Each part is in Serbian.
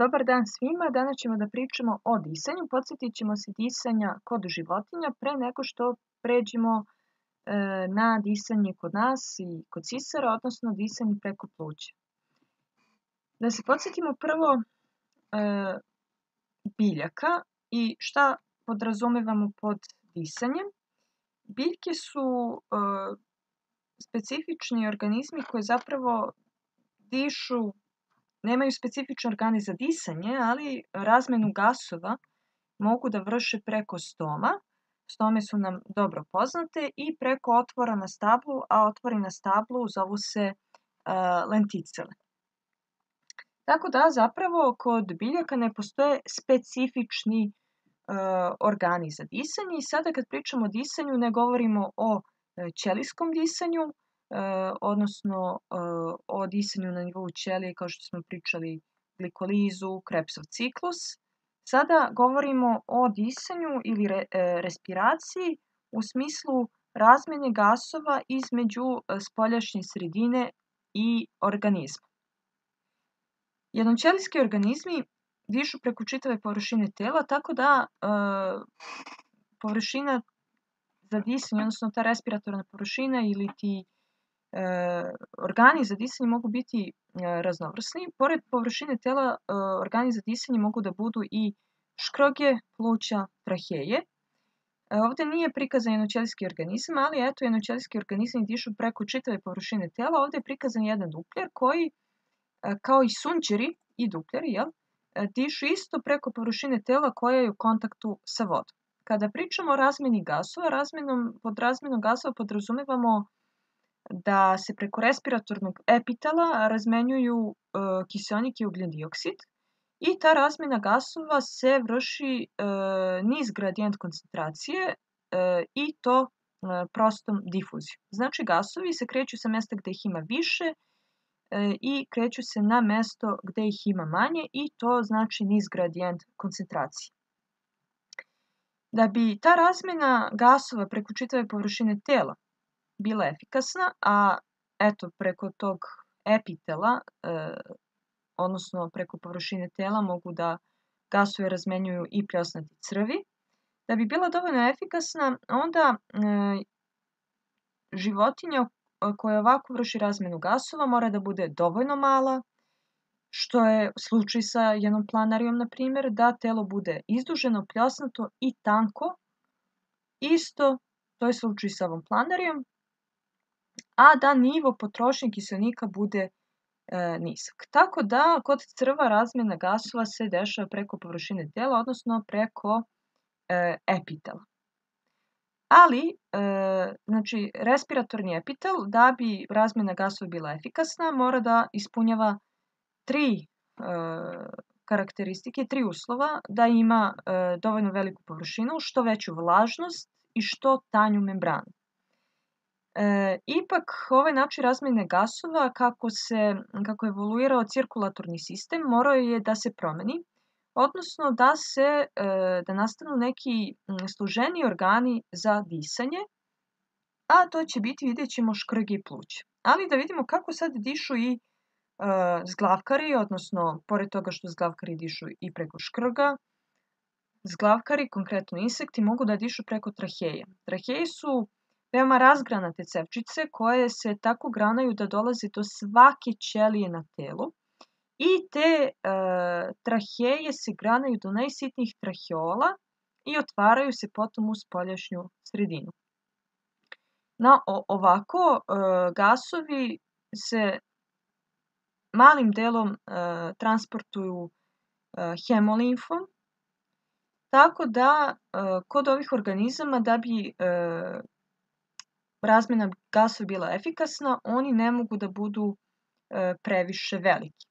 Dobar dan svima. Danas ćemo da pričamo o disanju. Podsjetit ćemo se disanja kod životinja pre nego što pređemo na disanje kod nas i kod sisara, odnosno disanje preko pluća. Da se podsjetimo prvo biljaka i šta podrazumevamo pod disanjem. Biljke su specifični organizmi koji zapravo dišu. Nemaju specifične organe za disanje, ali razmenu gasova mogu da vrše preko stoma. Stome su nam dobro poznate i preko otvora na stablu, a otvori na stablu zovu se lenticele. Tako da zapravo kod biljaka ne postoje specifični organi za disanje i sada kad pričamo o disanju ne govorimo o ćelijskom disanju, odnosno o disanju na nivou ćelije kao što smo pričali glikolizu, Krebsov ciklus. Sada govorimo o disanju ili respiraciji u smislu razmjene gasova između spoljašnje sredine i organizma. Jednoćelijski organizmi dišu preko čitave površine tela, tako da površina za disanje, odnosno ta respiratorna površina ili ti organi za disanje mogu biti raznovrsni. Pored površine tela, organi za disanje mogu da budu i škroge, pluća, traheje. Ovdje nije prikazan jednoćelijski organizam, ali eto, jednoćelijski organizmi dišu preko čitave površine tela. Ovdje je prikazan jedan dupljer koji, kao i sunđeri i dupljeri, dišu isto preko površine tela koja je u kontaktu sa vodom. Kada pričamo o razmjeni gasova, pod razmjenom gasova podrazumevamo da se preko respiratornog epitela razmenjuju kiseonik i ugljen dioksid i ta razmjena gasova se vrši niz gradijent koncentracije i to prostom difuzijom. Znači gasovi se kreću sa mesta gde ih ima više i kreću se na mesto gde ih ima manje i to znači niz gradijent koncentracije. Da bi ta razmjena gasova preko čitave površine tela bila efikasna, a eto preko tog epitela, odnosno preko površine tela mogu da gasove razmenjuju i pljosnati crvi. Da bi bila dovoljno efikasna, onda životinja koja ovako vrši razmenu gasova mora da bude dovoljno mala, što je slučaj sa jednom planarijom, na primjer, da telo bude izduženo, pljosnato i tanko. Isto, to je slučaj sa ovom planarijom, a da nivo potrošnje kiseonika bude nizak. Tako da kod crva razmjena gasova se dešava preko površine tela, odnosno preko epitela. Ali, znači, respiratorni epitel, da bi razmjena gasova bila efikasna, mora da ispunjava tri karakteristike, tri uslova, da ima dovoljno veliku površinu, što veću vlažnost i što tanju membranu. Ipak, ovaj način razmjene gasova, kako je evoluirao cirkulatorni sistem, morao je da se promeni, odnosno da nastanu neki složeniji organi za disanje, a to će biti, vidjet ćemo, škrge i pluća. Ali da vidimo kako sad dišu i zglavkari, odnosno, pored toga što zglavkari dišu i preko škrga, zglavkari, konkretno insekti, mogu da dišu preko traheje. Traheje su veoma razgranate cevčice koje se tako granaju da dolaze do svake ćelije na telu i te traheje se granaju do najsitnijih traheola i otvaraju se potom u spoljašnju sredinu. Ovako gasovi se malim delom transportuju hemolimfom, tako da kod ovih organizama da bi razmjena gasova bila efikasna, oni ne mogu da budu previše veliki.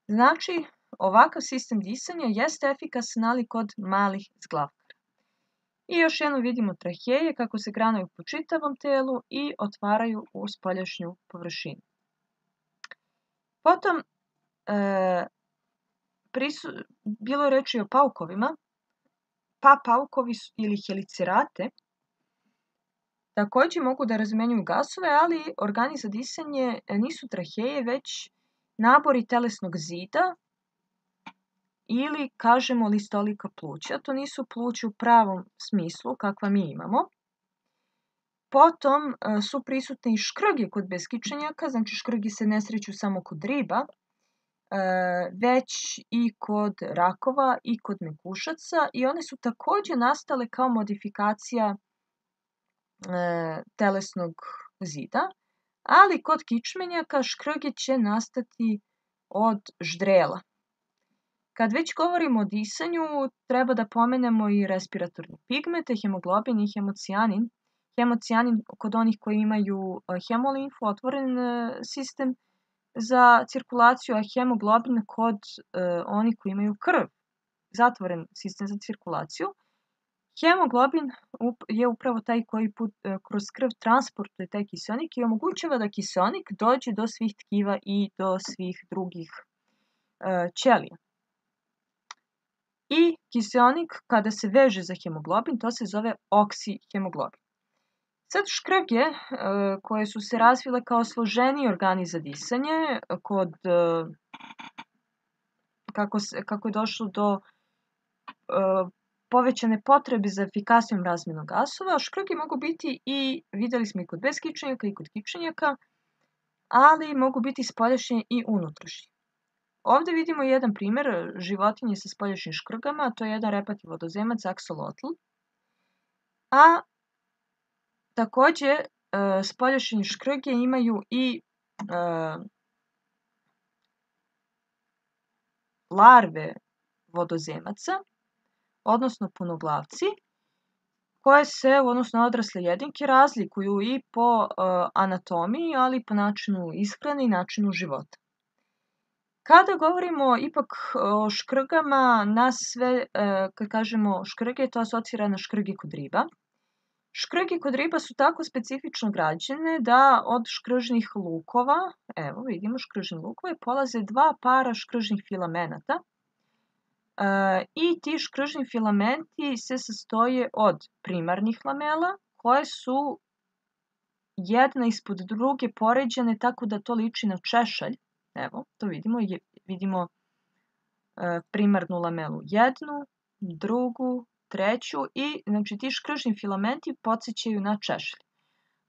Znači, ovakav sistem disanja jeste efikasan, ali kod malih zglavkara. I još jednom vidimo traheje kako se granaju po čitavom telu i otvaraju u spoljašnju površinu. Potom, bilo je reči o paukovima, pa paukovi ili helicerate takođe mogu da razmenjuju gasove, ali organi za disanje nisu traheje, već nabori telesnog zida ili kažemo listolika pluća. To nisu pluća u pravom smislu kakva mi imamo. Potom su prisutne i škrge kod beskičenjaka, znači škrgi se ne sreću samo kod riba, već i kod rakova i kod mekušaca i one su takođe nastale kao modifikacija telesnog zida, ali kod kičmenjaka škrge će nastati od ždrela. Kad već govorimo o disanju, treba da pomenemo i respiratorne pigmente, hemoglobin i hemocijanin. Hemocijanin kod onih koji imaju hemolimfu, otvoren sistem za cirkulaciju, a hemoglobin kod onih koji imaju krv, zatvoren sistem za cirkulaciju. Hemoglobin je upravo taj koji kroz krv transportuje taj kiseonik i omogućava da kiseonik dođe do svih tkiva i do svih drugih ćelija. I kiseonik kada se veže za hemoglobin, to se zove oksihemoglobin. Sad škrge koje su se razvile kao složeniji organi za disanje, kako je došlo do povećane potrebe za efikasnijom razmenom gasova, škrge mogu biti i, videli smo i kod beskičenjaka i kod kičenjaka, ali mogu biti spoljašnje i unutrašnje. Ovde vidimo jedan primer životinje sa spoljašnjim škrgama, a to je jedan repati vodozemac aksolotl. A takođe spoljašnje škrge imaju i larve vodozemaca, odnosno punoglavci, koje se u odnosu na odrasle jedinke razlikuju i po anatomiji, ali i po načinu ishrane i načinu života. Kada govorimo ipak o škrgama, nas sve, kad kažemo škrge, to asocira na škrge kod riba. Škrge kod riba su tako specifično građene da od škržnih lukova, evo vidimo škržne lukove, polaze dva para škržnih filamenata. I ti škržni filamenti se sastoje od primarnih lamela koje su jedna ispod druge poređane tako da to liči na češalj. Evo, to vidimo primarnu lamelu jednu, drugu, treću i znači ti škržni filamenti podsjećaju na češalj.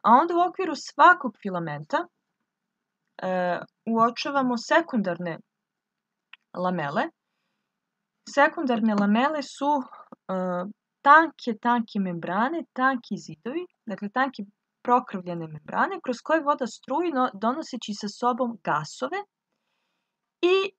A onda u okviru svakog filamenta uočavamo sekundarne lamele. Sekundarne lamele su tanke membrane, tanki zidovi, dakle tanke prokrvljene membrane kroz koje voda struji donoseći sa sobom gasove i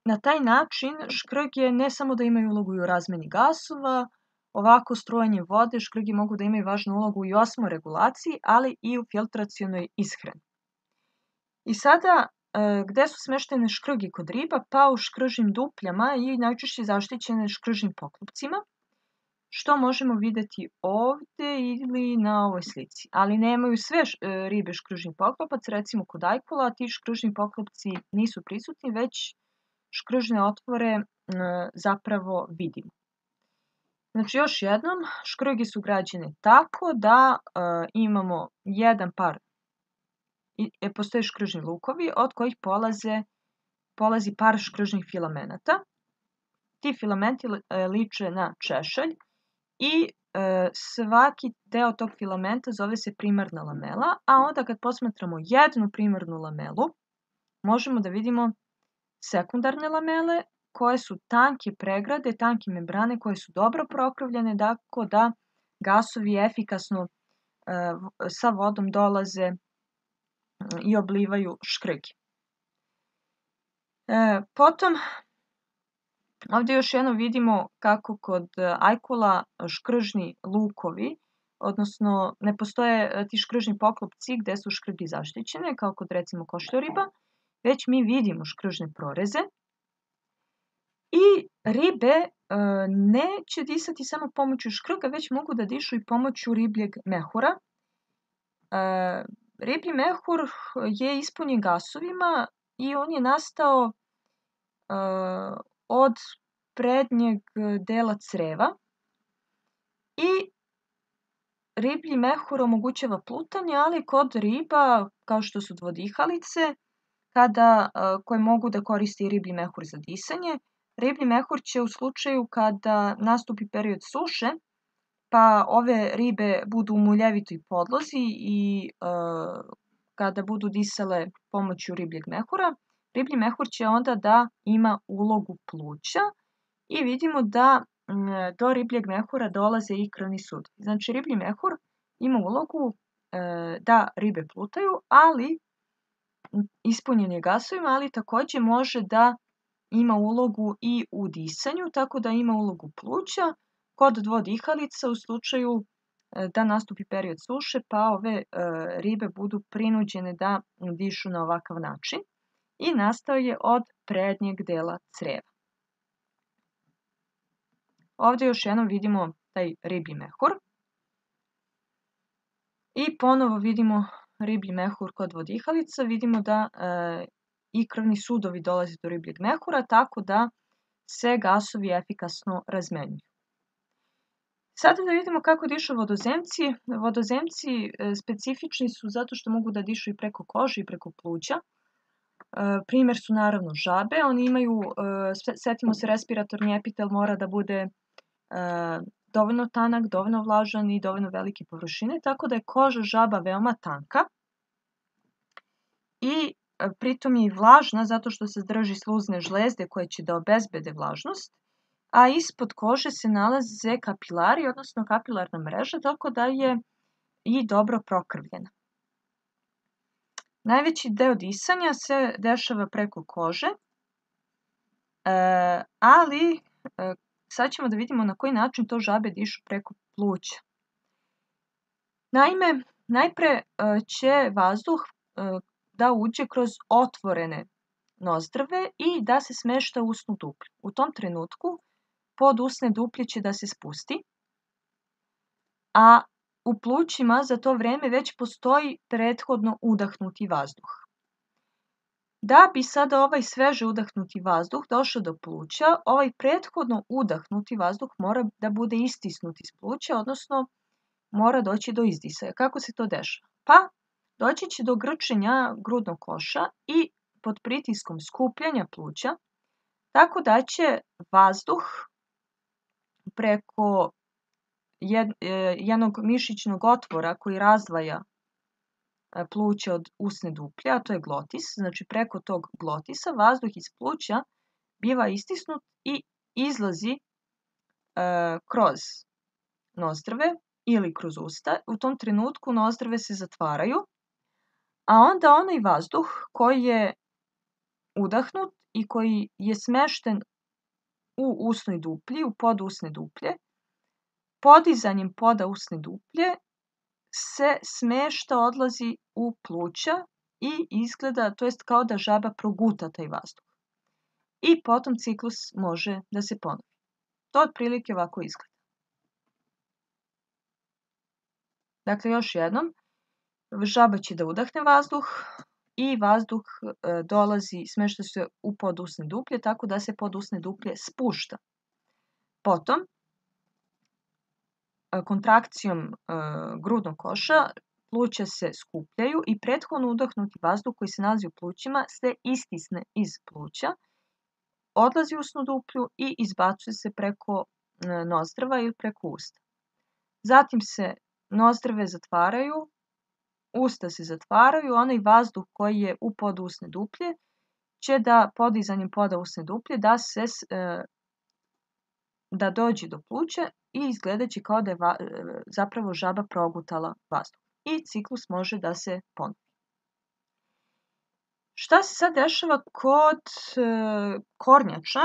na taj način škrge ne samo da imaju ulogu i u razmeni gasova, ovako strujanje vode škrge mogu da imaju važnu ulogu i u osmoregulaciji, ali i u filtracionoj ishrani. I sada, gde su smeštene škrge kod riba? Pa u škržnim dupljama i najčešće zaštićene škržnim poklopcima, što možemo videti ovde ili na ovoj slici. Ali nemaju sve ribe škržni poklopac, recimo kod ajkula ti škržni poklopci nisu prisutni, već škržne otvore zapravo vidimo. Znači još jednom, škrge su građene tako da imamo jedan par, postoje škržni lukovi od kojih polazi par škržnih filamenata. Ti filamenti liče na češalj i svaki deo tog filamenta zove se primarna lamela, a onda kad posmatramo jednu primarnu lamelu, možemo da vidimo sekundarne lamele koje su tanke pregrade, tanke membrane koje su dobro prokrvljene, tako da gasovi efikasno sa vodom dolaze i oblivaju škrge. Potom, ovdje još jedno vidimo kako kod ajkula škržni lukovi, odnosno ne postoje ti škržni poklopci gde su škrge zaštićene, kao kod recimo košljoriba, već mi vidimo škržne proreze. I ribe neće disati samo pomoću škrga, već mogu da dišu i pomoću ribljeg mehura. Riblji mehur je ispunjen gasovima i on je nastao od prednjeg dela creva i riblji mehur omogućava plutanje, ali kod riba, kao što su dvodihalice, koje mogu da koriste i riblji mehur za disanje. Riblji mehur će u slučaju kada nastupi period suše, pa ove ribe budu u muljevitoj podlozi i kada budu disale pomoću ribljeg mehura, riblji mehur će onda da ima ulogu pluća i vidimo da do ribljeg mehura dolaze i krvni sudovi. Znači, riblji mehur ima ulogu da ribe plutaju, ali ispunjen je gasovima, ali takođe može da ima ulogu i u disanju, tako da ima ulogu pluća kod dvodihalica u slučaju da nastupi period suše, pa ove ribe budu prinuđene da dišu na ovakav način i nastao je od prednjeg dela creva. Ovdje još jednom vidimo taj riblji mehur i ponovo vidimo riblji mehur kod vodihalica, vidimo da i krvni sudovi dolaze do ribljeg mehura, tako da se gasovi efikasno razmenjuju. Sada da vidimo kako dišu vodozemci. Vodozemci specifični su zato što mogu da dišu i preko kože i preko pluća. Primer su naravno žabe. Oni imaju, setimo se, respiratorni epitel mora da bude dovoljno tanak, dovoljno vlažan i dovoljno velike površine, tako da je koža žaba veoma tanka i pritom je i vlažna zato što se drži sluzne žlezde koje će da obezbede vlažnost, a ispod kože se nalaze kapilari, odnosno kapilarna mreža, tako da je i dobro prokrvljena. Najveći deo disanja se dešava preko kože, ali sad ćemo da vidimo na koji način to žabe dišu preko pluća. Naime, najpre će vazduh da uđe kroz otvorene nozdrve i da se smešta u usnu duplju. U tom trenutku pod usne duplje će da se spusti, a u plućima za to vreme već postoji prethodno udahnuti vazduh. Da bi sada ovaj sveže udahnuti vazduh došao do pluća, ovaj prethodno udahnuti vazduh mora da bude istisnut iz pluća, odnosno mora doći do izdisaja. Kako se to dešava? Pa, doći će do grčenja grudnog koša i pod pritiskom skupljanja pluća, tako da će vazduh preko jednog mišićnog otvora koji razdvaja pluća od usne duplje, a to je glotis, znači preko tog glotisa vazduh iz pluća biva istisnut i izlazi kroz nozdrve ili kroz usta. U tom trenutku nozdrve se zatvaraju, a onda onaj vazduh koji je udahnut i koji je smešten u usnoj duplji, u podusne duplje, podizanjem poda usne duplje se smešta, odlazi u pluća i izgleda, to jest kao da žaba proguta taj vazduh. I potom ciklus može da se ponovi. To otprilike ovako izgleda. Dakle, još jednom, žaba će da udahne vazduh i vazduh dolazi, smešta se u podusne duplje, tako da se podusne duplje spušta. Potom, kontrakcijom grudnog koša pluća se skupljaju i prethodno udahnuti vazduh koji se nalazi u plućima se istisne iz pluća, odlazi u usnu duplju i izbacuje se preko nozdrva ili preko usta. Zatim se nozdrve zatvaraju, usta se zatvaraju, onaj vazduh koji je u podusne duplje će da podizanjem poda usne duplje da dođe do pluća i izgledaće kao da je zapravo žaba progutala vazduh. I ciklus može da se ponovi. Šta se sad dešava kod kornjača?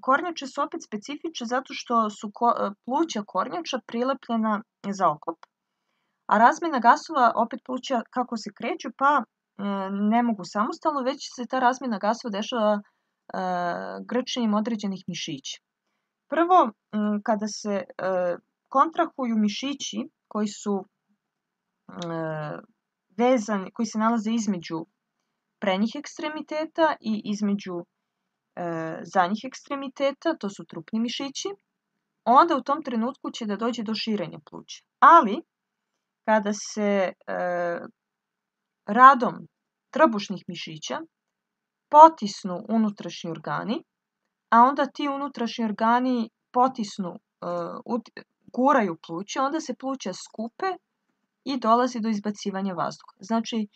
Kornjače su opet specifične zato što su pluća kornjača prilepljena za oklop, a razmena gasova opet pluća kako se kreću, pa ne mogu samostalno, već se ta razmena gasova dešava grčenjem određenih mišića. Prvo, kada se kontrahuju mišići koji su vezani, koji se nalaze između prednjih ekstremiteta i između zadnjih ekstremiteta, to su trupni mišići, onda u tom trenutku će da dođe do širenja pluća. Ali, kada se radom trbušnih mišića potisnu unutrašnji organi, a onda ti unutrašnji organi potisnu, guraju pluća, onda se pluća skupe i dolazi do izbacivanja vazduha. Znači,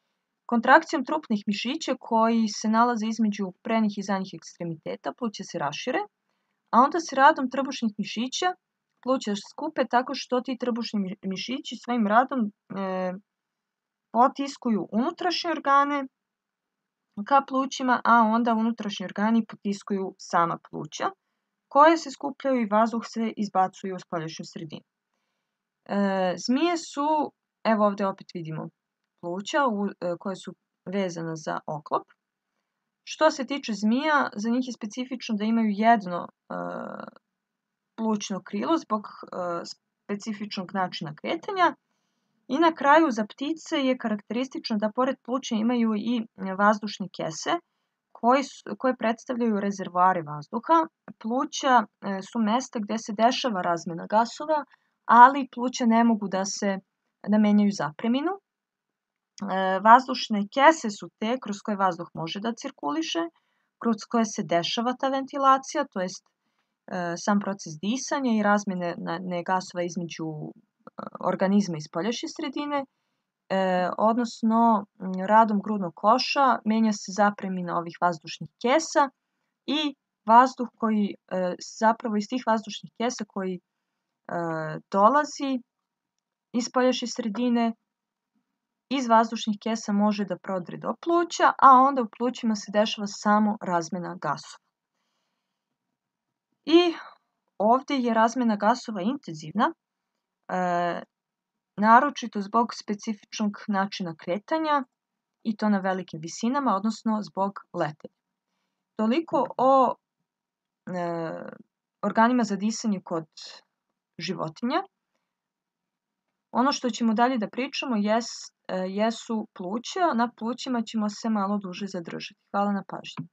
kontrakcijom trupnih mišića koji se nalaze između prednjih i zadnjih ekstremiteta pluća se rašire, a onda se radom trbušnih mišića pluća skupe tako što ti trbušni mišići svojim radom potiskuju unutrašnje organe ka plućima, a onda unutrašnji organi potiskuju sama pluća, koje se skupljaju i vazduh se izbacuje u spoljašnju sredinu. Zmije su, evo ovdje opet vidimo pluća koje su vezana za oklop. Što se tiče zmija, za njih je specifično da imaju jedno plućno krilo zbog specifičnog načina kretanja. I na kraju za ptice je karakteristično da pored pluća imaju i vazdušne kese koje predstavljaju rezervoare vazduha. Pluća su mesta gdje se dešava razmena gasova, ali pluća ne mogu da menjaju zapreminu. Vazdušne kese su te kroz koje vazduh može da cirkuliše, kroz koje se dešava ta ventilacija, to jest sam proces disanja i razmene gasova između organizma i spoljašnje sredine, odnosno radom grudnog koša menja se zapremina ovih vazdušnih kesa i vazduh koji zapravo iz tih vazdušnih kesa koji dolazi iz spoljašnje sredine, iz vazdušnih kesa može da prodre do pluća, a onda u plućima se dešava samo razmena gasova. I ovdje je razmena gasova intenzivna, naročito zbog specifičnog načina kretanja i to na velikim visinama, odnosno zbog letenja. Toliko o organima za disanje kod životinja. Ono što ćemo dalje da pričamo jesu pluća. Na plućima ćemo se malo duže zadržati. Hvala na pažnji.